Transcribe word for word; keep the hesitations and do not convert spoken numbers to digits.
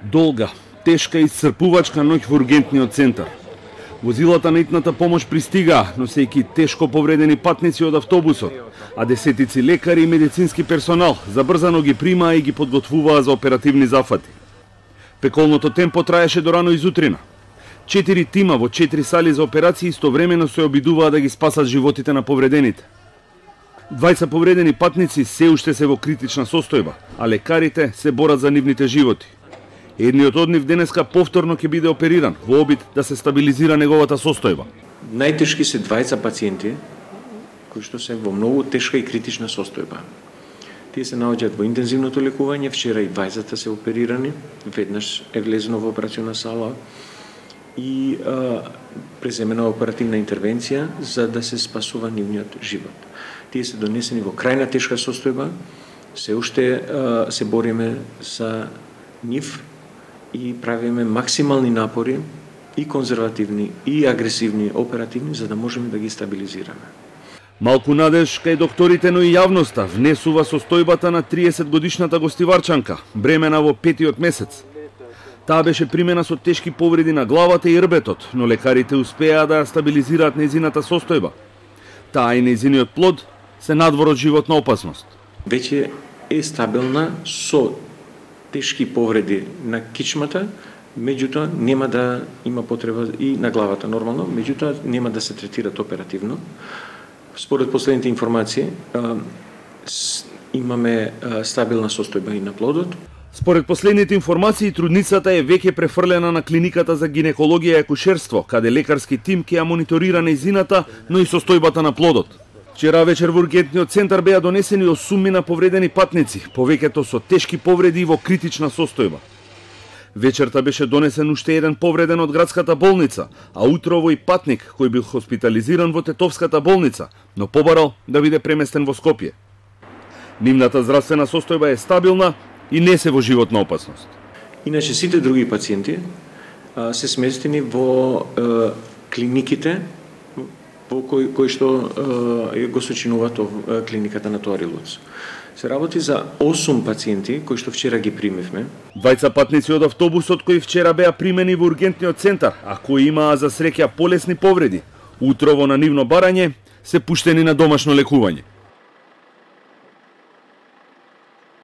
Долга, тешка и исцрпувачка ноќ во ургентниот центар. Возилата на итната помош пристигаа, носејќи тешко повредени патници од автобусот, а десетици лекари и медицински персонал забрзано ги примаа и ги подготвуваа за оперативни зафати. Пеколното темпо траеше до рано изутрина. Четири тима во четири сали за операции истовремено се обидуваа да ги спасат животите на повредените. Двајца повредени патници се уште се во критична состојба, а лекарите се борат за нивните животи. Едниот од нив денеска повторно ќе биде опериран во обид да се стабилизира неговата состојба. Најтешки се двајца пациенти кои што се во многу тешка и критична состојба. Тие се наоѓаат во интензивното лекување, вчера и двајцата се оперирани, веднаш е влезено во операциона сала и а, преземена оперативна интервенција за да се спасува нивниот живот. Тие се донесени во крајна тешка состојба, се уште а, се бориме за нив и правиме максимални напори и конзервативни и агресивни оперативни за да можеме да ги стабилизираме. Малку надеж кај докторите, но и јавноста внесува состојбата на триесет годишната гостиварчанка, бремена во петиот месец. Таа беше примена со тешки повреди на главата и рбетот, но лекарите успеа да ја стабилизираат нејзината состојба. Таа и нејзиниот плод се надвор од животна опасност. Веќе е стабилна со тешки повреди на кичмата, меѓутоа нема да има потреба и на главата нормално, меѓутоа нема да се третират оперативно. Според последните информации, имаме стабилна состојба и на плодот. Според последните информации, трудницата е веќе префрлена на клиниката за гинекологија и акушерство, каде лекарски тим ќе ја мониторира нејзината, но и состојбата на плодот. Вчера вечер во ургентниот центар беа донесени осумина повредени патници, повеќето со тешки повреди и во критична состојба. Вечерта беше донесен уште еден повреден од градската болница, а утрово и патник кој бил хоспитализиран во Тетовската болница, но побарал да биде преместен во Скопје. Нивната здравствена состојба е стабилна и не се во животна опасност. Иначе сите други пациенти а, се сместени во а, клиниките во кои, кои што а, го сочинуваат а, клиниката на Тоарилоц. Се работи за осум пациенти кои што вчера ги примивме. Двајца патници од автобусот кои вчера беа примени во ургентниот центар, а кои имаа за среќа полесни повреди, утрово на нивно барање се пуштени на домашно лекување.